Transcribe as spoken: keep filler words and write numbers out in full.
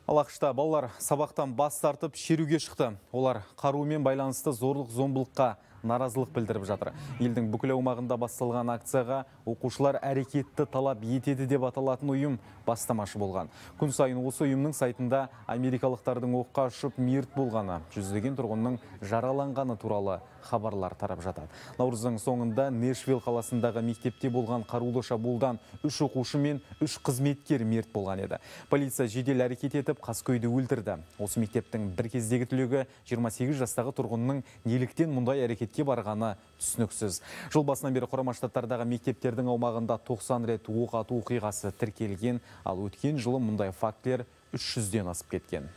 Алақышта балалар сабақтан бас тартып шеруге шықты. Олар қарумен байланысты зорлық-зомбылыққа наразылық білдіріп жатыр. Елдің бүкіл аумағында басталған акцияға оқушылар әрекетті талап етеді деп аталатын ұйым бастамашы болған. Күн сайын осы ұйымның сайтында америкалықтардың оққа ұшып мерт болғаны, жүздеген тұрғынның жараланғаны туралы хабарлар тарап жатады. Наурыздың соңында Нэшвилл қаласындағы мектепте болған қарулы шабуылдан үш оқушы мен үш қызметкер мерт болған еді. Полиция жедел әрекет етіп қаскөйді өлтірді. Осы мектептің бір кездегі түлегі жиырма сегіз жастағы тұрғынның неліктен мұндай әрекетке барғаны түсініксіз. Жыл басынан бері Құрама Штаттардағы мектептердің аумағында тоқсан рет оқ ату оқиғасы тіркелген, ал өткен жылы мұндай фактілер үш жүзден асып кеткен.